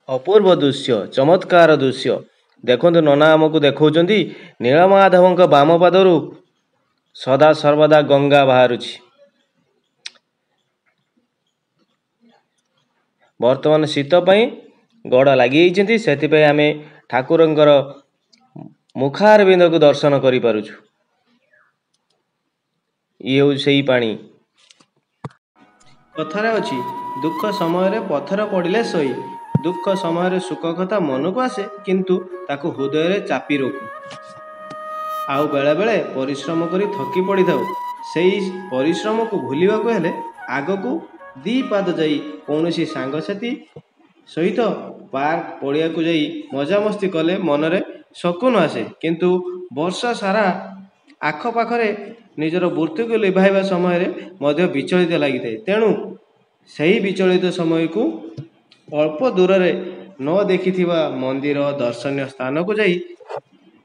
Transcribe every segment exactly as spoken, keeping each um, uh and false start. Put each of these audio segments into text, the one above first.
ଅପୂର୍ବ ଦୃଶ୍ୟ, ଚମତ୍କାର ଦୃଶ୍ୟ। ଦେଖନ୍ତୁ, ନନା ଆମକୁ ଦେଖାଉଛନ୍ତି ନୀଳମାଧବଙ୍କ ବାମ ପାଦରୁ ସଦା ସର୍ବଦା ଗଙ୍ଗା ବାହାରୁଛି। ବର୍ତ୍ତମାନ ଶୀତ ପାଇଁ ଗଡ଼ ଲାଗିଯାଇଛନ୍ତି, ସେଥିପାଇଁ ଆମେ ଠାକୁରଙ୍କର ମୁଖାରବିନ୍ଦକୁ ଦର୍ଶନ କରିପାରୁଛୁ। ଇଏ ହେଉଛି ସେଇ ପାଣି। କଥାରେ ଅଛି, ଦୁଃଖ ସମୟରେ ପଥର ପଡ଼ିଲେ ସଇ। ଦୁଃଖ ସମୟରେ ସୁଖ କଥା ମନକୁ ଆସେ, କିନ୍ତୁ ତାକୁ ହୃଦୟରେ ଚାପି ରଖୁ। ଆଉ ବେଳେବେଳେ ପରିଶ୍ରମ କରି ଥକି ପଡ଼ିଥାଉ। ସେଇ ପରିଶ୍ରମକୁ ଭୁଲିବାକୁ ହେଲେ ଆଗକୁ ଦୁଇ ପାଦ ଯାଇ କୌଣସି ସାଙ୍ଗସାଥି ସହିତ ପାର୍କ ପଡ଼ିଆକୁ ଯାଇ ମଜାମସ୍ତି କଲେ ମନରେ ଶକୁନ ଆସେ। କିନ୍ତୁ ବର୍ଷ ସାରା ଆଖପାଖରେ ନିଜର ବୃତ୍ତିକୁ ଲିଭାଇବା ସମୟରେ ମଧ୍ୟ ବିଚଳିତ ଲାଗିଥାଏ। ତେଣୁ ସେହି ବିଚଳିତ ସମୟକୁ ଅଳ୍ପ ଦୂରରେ ନ ଦେଖିଥିବା ମନ୍ଦିର, ଦର୍ଶନୀୟ ସ୍ଥାନକୁ ଯାଇ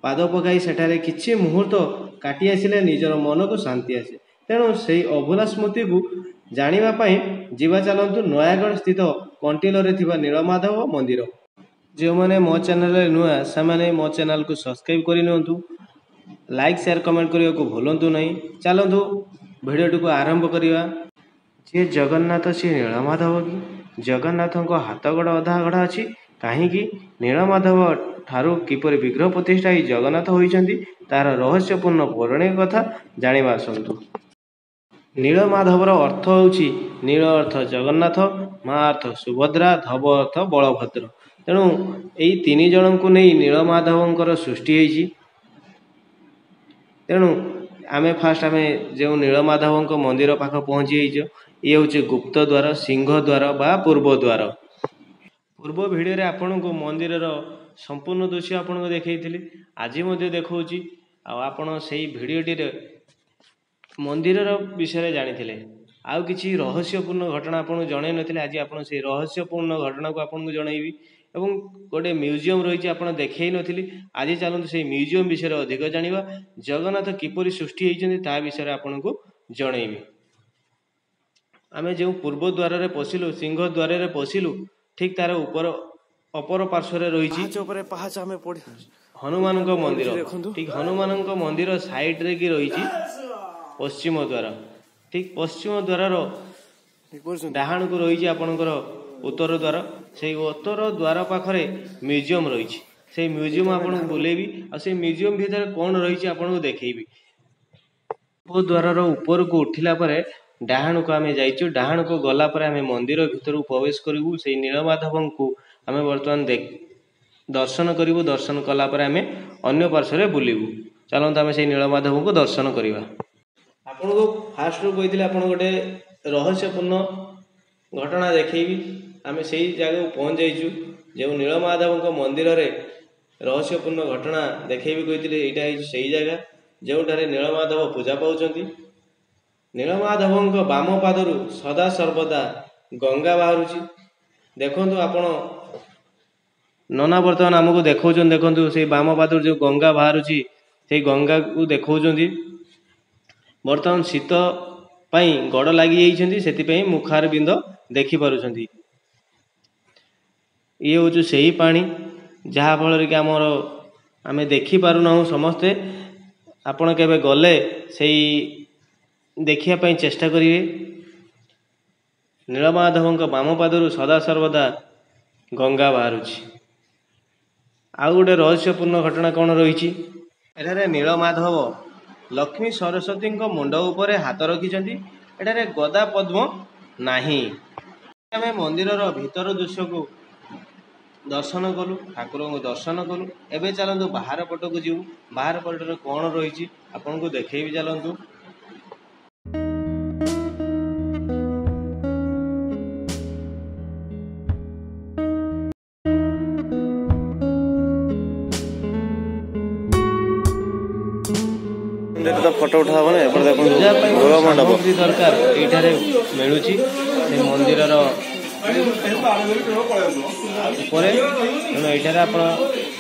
ପାଦ ପକାଇ ସେଠାରେ କିଛି ମୁହୂର୍ତ୍ତ କାଟି ଆସିଲେ ନିଜର ମନକୁ ଶାନ୍ତି ଆସେ। ତେଣୁ ସେଇ ଅଭୁଲା ସ୍ମୃତିକୁ ଜାଣିବା ପାଇଁ ଯିବା ଚାଲନ୍ତୁ ନୟାଗଡ଼ ସ୍ଥିତ କଣ୍ଟିଲୋରେ ଥିବା ନୀଳମାଧବ ମନ୍ଦିର। ଯେଉଁମାନେ ମୋ ଚ୍ୟାନେଲରେ ନୂଆ, ସେମାନେ ମୋ ଚ୍ୟାନେଲକୁ ସବସ୍କ୍ରାଇବ୍ କରିନିଅନ୍ତୁ। ଲାଇକ୍, ସେୟାର, କମେଣ୍ଟ କରିବାକୁ ଭୁଲନ୍ତୁ ନାହିଁ। ଚାଲନ୍ତୁ ଭିଡ଼ିଓଟିକୁ ଆରମ୍ଭ କରିବା। ଯିଏ ଜଗନ୍ନାଥ ସିଏ ନୀଳମାଧବ କି? ଜଗନ୍ନାଥଙ୍କ ହାତ ଗୋଡ଼ ଅଧା ଗଢ଼ା ଅଛି କାହିଁକି? ନୀଳମାଧବ ଠାରୁ କିପରି ବିଗ୍ରହ ପ୍ରତିଷ୍ଠା ହେଇ ଜଗନ୍ନାଥ ହୋଇଛନ୍ତି, ତାର ରହସ୍ୟପୂର୍ଣ୍ଣ ପୌରାଣିକ କଥା ଜାଣିବା ଆସନ୍ତୁ। ନୀଳମାଧବର ଅର୍ଥ ହେଉଛି, ନୀଳ ଅର୍ଥ ଜଗନ୍ନାଥ, ମା ଅର୍ଥ ସୁଭଦ୍ରା, ଧବ ଅର୍ଥ ବଳଭଦ୍ର। ତେଣୁ ଏଇ ତିନି ଜଣଙ୍କୁ ନେଇ ନୀଳମାଧବଙ୍କର ସୃଷ୍ଟି ହେଇଛି। ତେଣୁ ଆମେ ଫାଷ୍ଟ ଆମେ ଯେଉଁ ନୀଳମାଧବଙ୍କ ମନ୍ଦିର ପାଖ ପହଞ୍ଚି ଯାଇଛୁ। ଇଏ ହେଉଛି ଗୁପ୍ତ ଦ୍ୱାର, ସିଂହ ଦ୍ୱାର ବା ପୂର୍ବ ଦ୍ୱାର। ପୂର୍ବ ଭିଡ଼ିଓରେ ଆପଣଙ୍କୁ ମନ୍ଦିରର ସମ୍ପୂର୍ଣ୍ଣ ଦୃଶ୍ୟ ଆପଣଙ୍କୁ ଦେଖେଇଥିଲି, ଆଜି ମଧ୍ୟ ଦେଖାଉଛି। ଆଉ ଆପଣ ସେଇ ଭିଡ଼ିଓଟିରେ ମନ୍ଦିରର ବିଷୟରେ ଜାଣିଥିଲେ, ଆଉ କିଛି ରହସ୍ୟପୂର୍ଣ୍ଣ ଘଟଣା ଆପଣଙ୍କୁ ଜଣାଇ ନଥିଲେ। ଆଜି ଆପଣ ସେଇ ରହସ୍ୟପୂର୍ଣ୍ଣ ଘଟଣାକୁ ଆପଣଙ୍କୁ ଜଣାଇବି ଏବଂ ଗୋଟେ ମ୍ୟୁଜିୟମ୍ ରହିଛି, ଆପଣ ଦେଖେଇ ନଥିଲି। ଆଜି ଚାଲନ୍ତୁ ସେଇ ମ୍ୟୁଜିୟମ୍ ବିଷୟରେ ଅଧିକ ଜାଣିବା। ଜଗନ୍ନାଥ କିପରି ସୃଷ୍ଟି ହେଇଛନ୍ତି ତା ବିଷୟରେ ଆପଣଙ୍କୁ ଜଣେଇବି। ଆମେ ଯେଉଁ ପୂର୍ବ ଦ୍ୱାରରେ ପଶିଲୁ, ସିଂହ ଦ୍ୱାରରେ ପଶିଲୁ, ଠିକ୍ ତାର ଉପର ଅପର ପାର୍ଶ୍ୱରେ ରହିଛି ପାହାଚ ଉପରେ ପାହାଚ ଆମେ ପଢି ହନୁମାନଙ୍କ ମନ୍ଦିର। ଦେଖନ୍ତୁ। ଠିକ୍ ହନୁମାନଙ୍କ ମନ୍ଦିର ସାଇଡରେ କି ରହିଛି ପଶ୍ଚିମ ଦ୍ୱାର। ଠିକ୍ ପଶ୍ଚିମ ଦ୍ୱାରର ଦେଖିପାରୁଛନ୍ତି? ଡାହାଣକୁ ରହିଛି ଆପଣଙ୍କର ଉତ୍ତର ଦ୍ୱାର। ସେଇ ଉତ୍ତର ଦ୍ୱାର ପାଖରେ ମ୍ୟୁଜିୟମ୍ ରହିଛି। ସେଇ ମ୍ୟୁଜିୟମ୍ ଆପଣଙ୍କୁ ବୁଲେଇବି ଆଉ ସେଇ ମ୍ୟୁଜିୟମ୍ ଭିତରେ କ'ଣ ରହିଛି ଆପଣଙ୍କୁ ଦେଖେଇବି। ପୂର୍ବ ଦ୍ୱାରର ଉପରକୁ ଉଠିଲା ପରେ ଡାହାଣକୁ ଆମେ ଯାଇଛୁ। ଡାହାଣକୁ ଗଲା ପରେ ଆମେ ମନ୍ଦିର ଭିତରକୁ ପ୍ରବେଶ କରିବୁ। ସେଇ ନୀଳମାଧବଙ୍କୁ ଆମେ ବର୍ତ୍ତମାନ ଦର୍ଶନ କରିବୁ। ଦର୍ଶନ କଲା ପରେ ଆମେ ଅନ୍ୟ ପାର୍ଶ୍ୱରେ ବୁଲିବୁ। ଚାଲନ୍ତୁ ଆମେ ସେଇ ନୀଳମାଧବଙ୍କୁ ଦର୍ଶନ କରିବା। ଆପଣଙ୍କୁ ଫାଷ୍ଟରୁ କହିଥିଲି ଆପଣ ଗୋଟେ ରହସ୍ୟପୂର୍ଣ୍ଣ ଘଟଣା ଦେଖେଇବି। ଆମେ ସେଇ ଜାଗାକୁ ପହଞ୍ଚି ଯାଇଛୁ, ଯେଉଁ ନୀଳମାଧବଙ୍କ ମନ୍ଦିରରେ ରହସ୍ୟପୂର୍ଣ୍ଣ ଘଟଣା ଦେଖେଇବି କହିଥିଲି। ଏଇଟା ହେଇଛି ସେଇ ଜାଗା ଯେଉଁଠାରେ ନୀଳମାଧବ ପୂଜା ପାଉଛନ୍ତି। ନୀଳମାଧବଙ୍କ ବାମ ପାଦରୁ ସଦା ସର୍ବଦା ଗଙ୍ଗା ବାହାରୁଛି। ଦେଖନ୍ତୁ ଆପଣ, ନନା ବର୍ତ୍ତମାନ ଆମକୁ ଦେଖାଉଛନ୍ତି। ଦେଖନ୍ତୁ, ସେଇ ବାମ ପାଦରୁ ଯେଉଁ ଗଙ୍ଗା ବାହାରୁଛି, ସେଇ ଗଙ୍ଗାକୁ ଦେଖାଉଛନ୍ତି। ବର୍ତ୍ତମାନ ଶୀତ ପାଇଁ ଗଡ଼ ଲାଗିଯାଇଛନ୍ତି, ସେଥିପାଇଁ ମୁଖାରବିନ୍ଦ ଦେଖିପାରୁଛନ୍ତି। ଇଏ ହେଉଛି ସେଇ ପାଣି ଯାହାଫଳରେ କି ଆମର ଆମେ ଦେଖିପାରୁନାହୁଁ ସମସ୍ତେ। ଆପଣ କେବେ ଗଲେ ସେଇ ଦେଖିବା ପାଇଁ ଚେଷ୍ଟା କରିବେ। ନୀଳମାଧବଙ୍କ ବାମ ପାଦରୁ ସଦାସର୍ବଦା ଗଙ୍ଗା ବାହାରୁଛି। ଆଉ ଗୋଟେ ରହସ୍ୟପୂର୍ଣ୍ଣ ଘଟଣା କ'ଣ ରହିଛି? ଏଠାରେ ନୀଳମାଧବ ଲକ୍ଷ୍ମୀ ସରସ୍ୱତୀଙ୍କ ମୁଣ୍ଡ ଉପରେ ହାତ ରଖିଛନ୍ତି। ଏଠାରେ ଗଦା ପଦ୍ମ ନାହିଁ। ଆମେ ମନ୍ଦିରର ଭିତର ଦୃଶ୍ୟକୁ ଦର୍ଶନ କଲୁ, ଠାକୁରଙ୍କୁ ଦର୍ଶନ କଲୁ। ଏବେ ଚାଲନ୍ତୁ ବାହାର ପଟକୁ ଯିବୁ। ବାହାର ପଟରେ କ'ଣ ରହିଛି ଆପଣଙ୍କୁ ଦେଖେଇବି, ଚାଲନ୍ତୁ। ତ ଫଟୋ ଉଠା ହବନି ଏପଟେ। ଦେଖନ୍ତୁ, ପୂଜା ପାଇଁ ଦୋଳ ମଣ୍ଡପ ସାମଗ୍ରୀ ଦରକାର ଏଇଠାରେ ମିଳୁଛି ସେ ମନ୍ଦିରର ଉପରେ। ତେଣୁ ଏଇଠାରେ ଆପଣ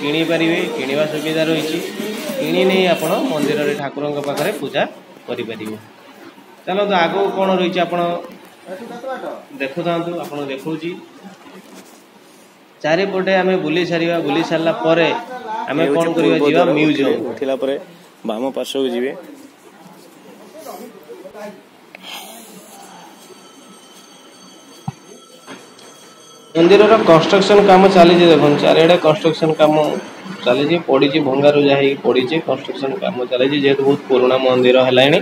କିଣିପାରିବେ, କିଣିବା ସୁବିଧା ରହିଛି। କିଣି ନେଇ ଆପଣ ମନ୍ଦିରରେ ଠାକୁରଙ୍କ ପାଖରେ ପୂଜା କରିପାରିବେ। ଚାଲନ୍ତୁ, ଆଗକୁ କ'ଣ ରହିଛି ଆପଣ ଦେଖୁଥାନ୍ତୁ, ଆପଣଙ୍କୁ ଦେଖାଉଛି। ଚାରିପଟେ ଆମେ ବୁଲି ସାରିବା। ବୁଲି ସାରିଲା ପରେ ଆମେ ଏ କଣ ହେଉଛି କରିବା, ପୂର୍ବ ଯିବା ଦ୍ୱାର। ଉଠିବେ, ମ୍ୟୁଜିୟମ। ଉଠିଲା ପରେ ବାମ ପାର୍ଶ୍ୱକୁ ଯିବେ। ମନ୍ଦିରର କନଷ୍ଟ୍ରକ୍ସନ କାମ ଚାଲିଛି। ଦେଖନ୍ତୁ, ଚାରିଆଡେ କନଷ୍ଟ୍ରକ୍ସନ କାମ ଚାଲିଛି, ପଡିଛି, ଭଙ୍ଗାରୁଜା ହେଇକି ପଡିଛି। କନଷ୍ଟ୍ରକ୍ସନ କାମ ଚାଲିଛି, ଯେହେତୁ ବହୁତ ପୁରୁଣା ମନ୍ଦିର ହେଲାଣି।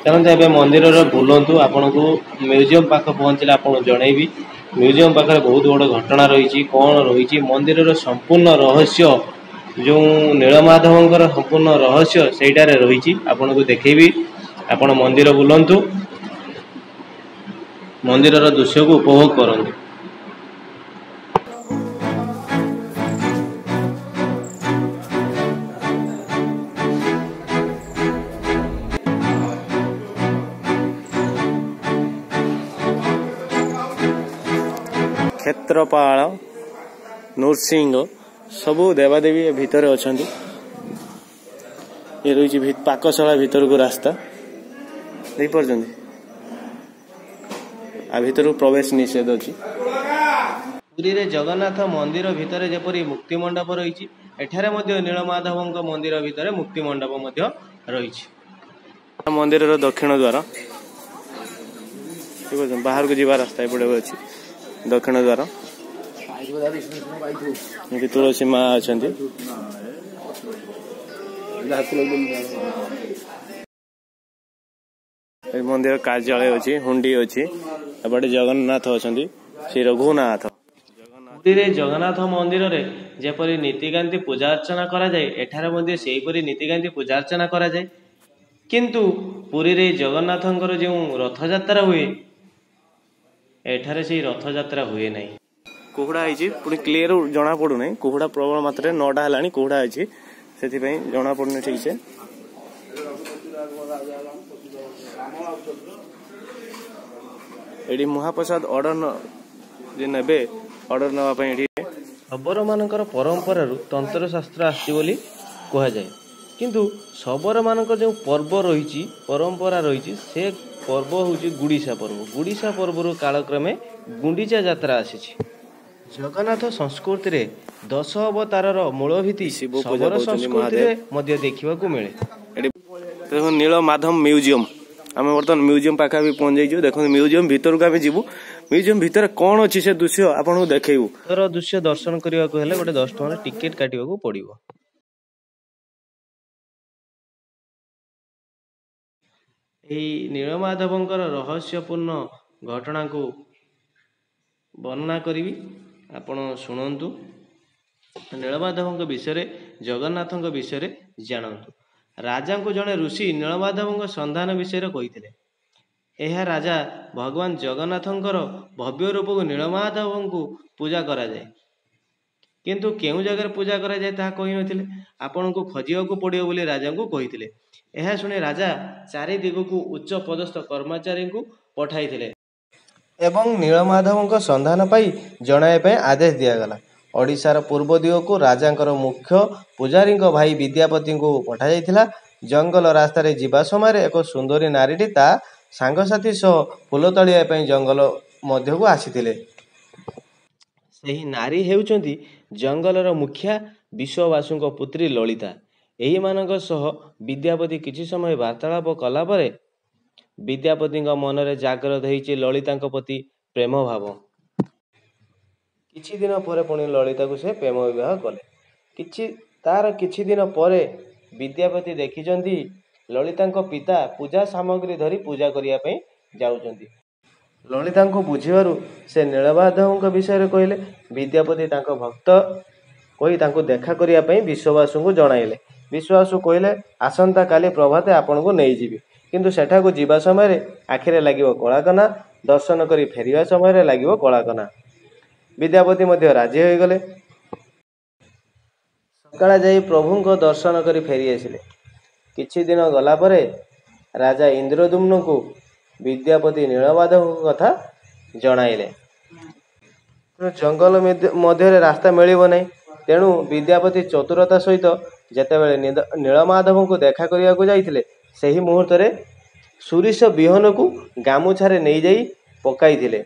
ଚାଲନ୍ତୁ, ଏବେ ମନ୍ଦିରର ବୁଲନ୍ତୁ। ଆପଣଙ୍କୁ ମ୍ୟୁଜିୟମ ପାଖ ପହଞ୍ଚିଲେ ଆପଣଙ୍କୁ ଜଣେଇବି ମ୍ୟୁଜିୟମ ପାଖରେ ବହୁତ ବଡ଼ ଘଟଣା ରହିଛି, କଣ ରହିଛି। ମନ୍ଦିରର ସମ୍ପୂର୍ଣ୍ଣ ରହସ୍ୟ, ଯେଉଁ ନୀଳମାଧବଙ୍କର ସମ୍ପୂର୍ଣ୍ଣ ରହସ୍ୟ ସେଇଟାରେ ରହିଛି, ଆପଣଙ୍କୁ ଦେଖେଇବି। ଆପଣ ମନ୍ଦିର ବୁଲନ୍ତୁ, ମନ୍ଦିରର ଦୃଶ୍ୟକୁ ଉପଭୋଗ କରନ୍ତୁ। କ୍ଷେତ୍ରପାଳ, ନୃସିଂହ, ସବୁ ଦେବାଦେବୀ ଏ ଭିତରେ ଅଛନ୍ତି। ଏ ରହିଛି ଭି- ପାକଶାଳା ଭିତରକୁ ରାସ୍ତା, ଦେଖିପାରୁଛନ୍ତି। ଆ ଭିତରକୁ ପ୍ରବେଶ ନିଷେଧ ଅଛି। ପୁରୀରେ ଜଗନ୍ନାଥ ମନ୍ଦିର ଭିତରେ ଯେପରି ମୁକ୍ତି ମଣ୍ଡପ ରହିଛି, ଏଠାରେ ମଧ୍ୟ ନୀଳମାଧବଙ୍କ ମନ୍ଦିର ଭିତରେ ମୁକ୍ତି ମଣ୍ଡପ ମଧ୍ୟ ରହିଛି। ମନ୍ଦିରର ଦକ୍ଷିଣ ଦ୍ୱାର ଦେଖିପାରୁଛନ୍ତି। ବାହାରକୁ ଯିବା ରାସ୍ତା ଏପଟେ ଅଛି, ଦକ୍ଷିଣ ଦ୍ୱାର। ଏଠି ତୁଳସୀ ମା ଅଛନ୍ତି। ଏ ମନ୍ଦିର କାର୍ଯ୍ୟାଳୟ ଅଛି, ହୁଣ୍ଡି ଅଛି। ଏପଟେ ଜଗନ୍ନାଥ ଅଛନ୍ତି, ଶ୍ରୀ ରଘୁନାଥ। ପୁରୀରେ ଜଗନ୍ନାଥ ମନ୍ଦିରରେ ଯେପରି ନୀତିକାନ୍ତି ପୂଜା ଅର୍ଚ୍ଚନା କରାଯାଏ, ଏଠାରେ ମଧ୍ୟ ସେହିପରି ନୀତିକାନ୍ତି ପୂଜା ଅର୍ଚ୍ଚନା କରାଯାଏ। କିନ୍ତୁ ପୁରୀରେ ଜଗନ୍ନାଥଙ୍କର ଯେଉଁ ରଥଯାତ୍ରା ହୁଏ, ଏଠାରେ ସେଇ ରଥଯାତ୍ରା ହୁଏ ନାହିଁ। କୁହୁଡ଼ା ହେଇଛି, ପୁଣି କ୍ଲିୟର ଜଣା ପଡୁନାହିଁ। କୁହୁଡ଼ା ପ୍ରବଳ ମାତ୍ରାରେ, ନଅଟା ହେଲାଣି, କୁହୁଡ଼ା ଅଛି, ସେଥିପାଇଁ ଜଣା ପଡୁନି ଠିକ ସେ। ଏଠି ମହାପ୍ରସାଦ ଅର୍ଡର ଯେ ନେବେ, ଅର୍ଡର ନେବା ପାଇଁ ଏଠି। ଶବରମାନଙ୍କର ପରମ୍ପରାରୁ ତନ୍ତ୍ରଶାସ୍ତ୍ର ଆସିଛି ବୋଲି କୁହାଯାଏ। କିନ୍ତୁ ଶବରମାନଙ୍କର ଯେଉଁ ପର୍ବ ରହିଛି, ପରମ୍ପରା ରହିଛି, ସେ ପର୍ବ ହେଉଛି ଗୁଡ଼ିସା ପର୍ବ। ଗୁଡ଼ିସା ପର୍ବରୁ କାଳକ୍ରମେ ଗୁଣ୍ଡିଚା ଯାତ୍ରା ଆସିଛି। ଜଗନ୍ନାଥ ସଂସ୍କୃତିରେ ଦଶ ଅବତାରର ମୂଳ ଭିତ୍ତି ଶିବ ପୂଜା ଶବର ପାଉଛନ୍ତି ସଂସ୍କୃତିରେ ମହାଦେବ। ମଧ୍ୟ ଦେଖିବାକୁ ମିଳେ। ଏଠି ଦେଖନ୍ତୁ, ନୀଳ ମାଧବ ମ୍ୟୁଜିୟମ। ଆମେ ବର୍ତ୍ତମାନ ମ୍ୟୁଜିୟମ ପାଖାପାଖି ପହଞ୍ଚି ଯାଇଛୁ। ଦେଖନ୍ତୁ, ମ୍ୟୁଜିୟମ ଭିତରକୁ ଆମେ ଯିବୁ। ମ୍ୟୁଜିୟମ ଭିତରେ କଣ ଅଛି ସେ ଦୃଶ୍ୟ ଆପଣଙ୍କୁ ଦେଖେଇବୁ। ଭିତର ଦୃଶ୍ୟ ଦର୍ଶନ କରିବାକୁ ହେଲେ ଗୋଟେ ଦଶ ଟଙ୍କାର ଟିକେଟ କାଟିବାକୁ ପଡ଼ିବ। ଏହି ନୀଳମାଧବଙ୍କର ରହସ୍ୟପୂର୍ଣ୍ଣ ଘଟଣାକୁ ବର୍ଣ୍ଣନା କରିବି, ଆପଣ ଶୁଣନ୍ତୁ। ନୀଳମାଧବଙ୍କ ବିଷୟରେ, ଜଗନ୍ନାଥଙ୍କ ବିଷୟରେ ଜାଣନ୍ତୁ। ରାଜାଙ୍କୁ ଜଣେ ଋଷି ନୀଳମାଧବଙ୍କ ସନ୍ଧାନ ବିଷୟରେ କହିଥିଲେ। ଏହା ରାଜା ଭଗବାନ ଜଗନ୍ନାଥଙ୍କର ଭବ୍ୟ ରୂପକୁ ନୀଳମାଧବଙ୍କୁ ପୂଜା କରାଯାଏ, କିନ୍ତୁ କେଉଁ ଜାଗାରେ ପୂଜା କରାଯାଏ ତାହା କହିନଥିଲେ। ଆପଣଙ୍କୁ ଖୋଜିବାକୁ ପଡ଼ିବ ବୋଲି ରାଜାଙ୍କୁ କହିଥିଲେ। ଏହା ଶୁଣି ରାଜା ଚାରି ଦିଗକୁ ଉଚ୍ଚ ପଦସ୍ଥ କର୍ମଚାରୀଙ୍କୁ ପଠାଇଥିଲେ ଏବଂ ନୀଳମାଧବଙ୍କ ସନ୍ଧାନ ପାଇ ଜଣାଇବା ପାଇଁ ଆଦେଶ ଦିଆଗଲା। ଓଡ଼ିଶାର ପୂର୍ବ ଦିଗକୁ ରାଜାଙ୍କର ମୁଖ୍ୟ ପୂଜାରୀଙ୍କ ଭାଇ ବିଦ୍ୟାପତିଙ୍କୁ ପଠାଯାଇଥିଲା। ଜଙ୍ଗଲ ରାସ୍ତାରେ ଯିବା ସମୟରେ ଏକ ସୁନ୍ଦରୀ ନାରୀଟି ତା ସାଙ୍ଗସାଥି ସହ ଫୁଲ ତୋଳିବା ପାଇଁ ଜଙ୍ଗଲ ମଧ୍ୟକୁ ଆସିଥିଲେ। ସେହି ନାରୀ ହେଉଛନ୍ତି ଜଙ୍ଗଲର ମୁଖିଆ ବିଶ୍ୱବାସୁଙ୍କ ପୁତ୍ରୀ ଲଳିତା। ଏହିମାନଙ୍କ ସହ ବିଦ୍ୟାପତି କିଛି ସମୟ ବାର୍ତ୍ତାଳାପ କଲା ପରେ ବିଦ୍ୟାପତିଙ୍କ ମନରେ ଜାଗ୍ରତ ହେଇଛି ଲଳିତାଙ୍କ ପ୍ରତି ପ୍ରେମ ଭାବ। କିଛି ଦିନ ପରେ ପୁଣି ଲଳିତାକୁ ସେ ପ୍ରେମ ବିବାହ କଲେ। କିଛି ତାର କିଛି ଦିନ ପରେ ବିଦ୍ୟାପତି ଦେଖିଛନ୍ତି ଲଳିତାଙ୍କ ପିତା ପୂଜା ସାମଗ୍ରୀ ଧରି ପୂଜା କରିବା ପାଇଁ ଯାଉଛନ୍ତି। ଲଳିତାଙ୍କୁ ବୁଝିବାରୁ ସେ ନୀଳମାଧବଙ୍କ ବିଷୟରେ କହିଲେ। ବିଦ୍ୟାପତି ତାଙ୍କ ଭକ୍ତ କହି ତାଙ୍କୁ ଦେଖା କରିବା ପାଇଁ ବିଶ୍ୱବାସୁଙ୍କୁ ଜଣାଇଲେ। ବିଶ୍ୱବାସୁ କହିଲେ, ଆସନ୍ତାକାଲି ପ୍ରଭାତେ ଆପଣଙ୍କୁ ନେଇଯିବି, କିନ୍ତୁ ସେଠାକୁ ଯିବା ସମୟରେ ଆଖିରେ ଲାଗିବ କଳାକନା, ଦର୍ଶନ କରି ଫେରିବା ସମୟରେ ଲାଗିବ କଳାକନା। ବିଦ୍ୟାପତି ମଧ୍ୟ ରାଜି ହୋଇଗଲେ। ସକାଳେ ଯାଇ ପ୍ରଭୁଙ୍କ ଦର୍ଶନ କରି ଫେରି ଆସିଲେ। କିଛି ଦିନ ଗଲା ପରେ ରାଜା ଇନ୍ଦ୍ରଦ୍ୟୁମ୍ନଙ୍କୁ ବିଦ୍ୟାପତି ନୀଳମାଧବଙ୍କ କଥା ଜଣାଇଲେ। ତେଣୁ ଜଙ୍ଗଲ ମଧ୍ୟରେ ରାସ୍ତା ମିଳିବ ନାହିଁ। ତେଣୁ ବିଦ୍ୟାପତି ଚତୁରତା ସହିତ ଯେତେବେଳେ ନୀଳମାଧବଙ୍କୁ ଦେଖା କରିବାକୁ ଯାଇଥିଲେ, ସେହି ମୁହୂର୍ତ୍ତରେ ସୁରିଷ ବିହନକୁ ଗାମୁଛାରେ ନେଇଯାଇ ପକାଇଥିଲେ।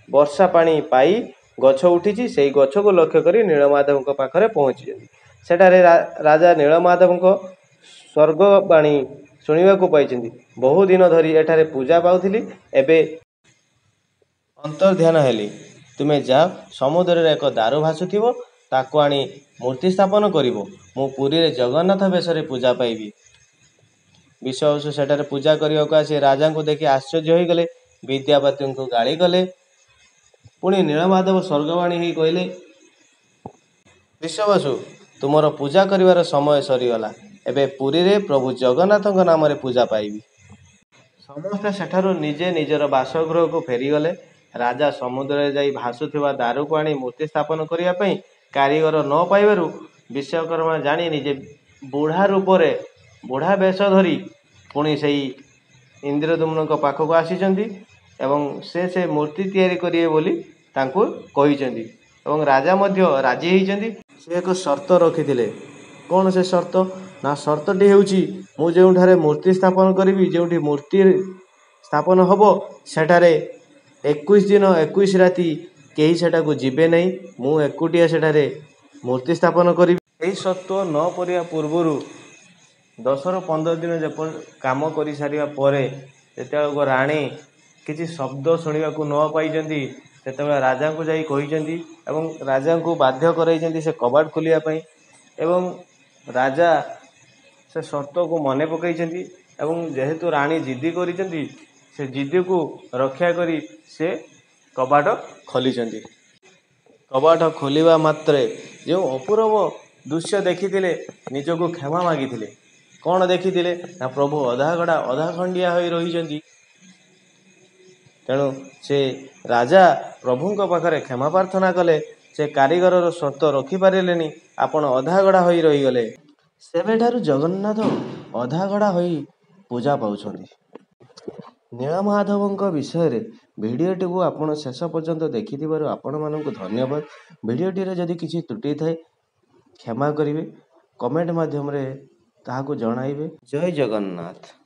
ବର୍ଷା ପାଣି ପାଇ ଗଛ ଉଠିଛି, ସେଇ ଗଛକୁ ଲକ୍ଷ୍ୟ କରି ନୀଳମାଧବଙ୍କ ପାଖରେ ପହଞ୍ଚିଛନ୍ତି। ସେଠାରେ ରାଜା ନୀଳମାଧବଙ୍କ ସ୍ୱର୍ଗବାଣୀ ଶୁଣିବାକୁ ପାଇଛନ୍ତି। ବହୁ ଦିନ ଧରି ଏଠାରେ ପୂଜା ପାଉଥିଲି, ଏବେ ଅନ୍ତର୍ଧ୍ୟାନ ହେଲି। ତୁମେ ଯାଅ, ସମୁଦ୍ରରେ ଏକ ଦାରୁ ଭାସୁଥିବ, ତାକୁ ଆଣି ମୂର୍ତ୍ତି ସ୍ଥାପନ କରିବ। ମୁଁ ପୁରୀରେ ଜଗନ୍ନାଥ ବେଶରେ ପୂଜା ପାଇବି। ବିଶ୍ୱାବସୁ ସେଠାରେ ପୂଜା କରିବାକୁ ଆସି ରାଜାଙ୍କୁ ଦେଖି ଆଶ୍ଚର୍ଯ୍ୟ ହୋଇଗଲେ, ବିଦ୍ୟାପତିଙ୍କୁ ଗାଳି କଲେ। ପୁଣି ନୀଳମାଧବ ସ୍ୱର୍ଗବାଣୀ ହେଇ କହିଲେ, ବିଶ୍ୱାବସୁ, ତୁମର ପୂଜା କରିବାର ସମୟ ସରିଗଲା। ଏବେ ପୁରୀରେ ପ୍ରଭୁ ଜଗନ୍ନାଥଙ୍କ ନାମରେ ପୂଜା ପାଇବି। ସମସ୍ତେ ସେଠାରୁ ନିଜେ ନିଜର ବାସଗୃହକୁ ଫେରିଗଲେ। ରାଜା ସମୁଦ୍ରରେ ଯାଇ ଭାସୁଥିବା ଦାରୁକୁ ଆଣି ମୂର୍ତ୍ତି ସ୍ଥାପନ କରିବା ପାଇଁ କାରିଗର ନ ପାଇବାରୁ ବିଶ୍ୱକର୍ମା ଜାଣି ନିଜେ ବୁଢ଼ା ରୂପରେ, ବୁଢ଼ା ବେଶ ଧରି ପୁଣି ସେଇ ଇନ୍ଦ୍ରଦ୍ୟୁମ୍ନଙ୍କ ପାଖକୁ ଆସିଛନ୍ତି ଏବଂ ସେ ସେ ମୂର୍ତ୍ତି ତିଆରି କରିବେ ବୋଲି ତାଙ୍କୁ କହିଛନ୍ତି ଏବଂ ରାଜା ମଧ୍ୟ ରାଜି ହେଇଛନ୍ତି। ସେ ଏକ ସର୍ତ୍ତ ରଖିଥିଲେ। କ'ଣ ସେ ସର୍ତ୍ତ? ନା, ସର୍ତ୍ତଟି ହେଉଛି, ମୁଁ ଯେଉଁଠାରେ ମୂର୍ତ୍ତି ସ୍ଥାପନ କରିବି, ଯେଉଁଠି ମୂର୍ତ୍ତି ସ୍ଥାପନ ହେବ, ସେଠାରେ ଏକୋଇଶ ଦିନ ଏକୋଇଶ ରାତି କେହି ସେଠାକୁ ଯିବେ ନାହିଁ। ମୁଁ ଏକୁଟିଆ ସେଠାରେ ମୂର୍ତ୍ତି ସ୍ଥାପନ କରିବି। ଏହି ସତ୍ତ୍ୱ ନ କରିବା ପୂର୍ବରୁ ଦଶରୁ ପନ୍ଦର ଦିନ ଯେପରି କାମ କରିସାରିବା ପରେ ଯେତେବେଳକୁ ରାଣୀ କିଛି ଶବ୍ଦ ଶୁଣିବାକୁ ନ ପାଇଛନ୍ତି, ସେତେବେଳେ ରାଜାଙ୍କୁ ଯାଇ କହିଛନ୍ତି ଏବଂ ରାଜାଙ୍କୁ ବାଧ୍ୟ କରାଇଛନ୍ତି ସେ କବାଟ ଖୋଲିବା ପାଇଁ। ଏବଂ ରାଜା ସେ ସର୍ତ୍ତକୁ ମନେ ପକାଇଛନ୍ତି ଏବଂ ଯେହେତୁ ରାଣୀ ଜିଦି କରିଛନ୍ତି, ସେ ଜିଦିକୁ ରକ୍ଷା କରି ସେ କବାଟ ଖୋଲିଛନ୍ତି। କବାଟ ଖୋଲିବା ମାତ୍ରେ ଯେଉଁ ଅପୂର୍ବ ଦୃଶ୍ୟ ଦେଖିଥିଲେ, ନିଜକୁ କ୍ଷମା ମାଗିଥିଲେ। କ'ଣ ଦେଖିଥିଲେ? ନା, ପ୍ରଭୁ ଅଧା ଗଡ଼ା ଅଧା ଖଣ୍ଡିଆ ହୋଇ ରହିଛନ୍ତି। ତେଣୁ ସେ ରାଜା ପ୍ରଭୁଙ୍କ ପାଖରେ କ୍ଷମା ପ୍ରାର୍ଥନା କଲେ, ସେ କାରିଗରର ସର୍ତ୍ତ ରଖିପାରିଲେନି, ଆପଣ ଅଧାଗଢ଼ା ହୋଇ ରହିଗଲେ। ସେବେଠାରୁ ଜଗନ୍ନାଥ ଅଧାଗଢ଼ା ହୋଇ ପୂଜା ପାଉଛନ୍ତି। ନୀଳମାଧବଙ୍କ ବିଷୟରେ ଭିଡ଼ିଓଟିକୁ ଆପଣ ଶେଷ ପର୍ଯ୍ୟନ୍ତ ଦେଖିଥିବାରୁ ଆପଣମାନଙ୍କୁ ଧନ୍ୟବାଦ। ଭିଡ଼ିଓଟିରେ ଯଦି କିଛି ତ୍ରୁଟି ଥାଏ କ୍ଷମା କରିବେ, କମେଣ୍ଟ ମାଧ୍ୟମରେ ତାହାକୁ ଜଣାଇବେ। ଜୟ ଜଗନ୍ନାଥ।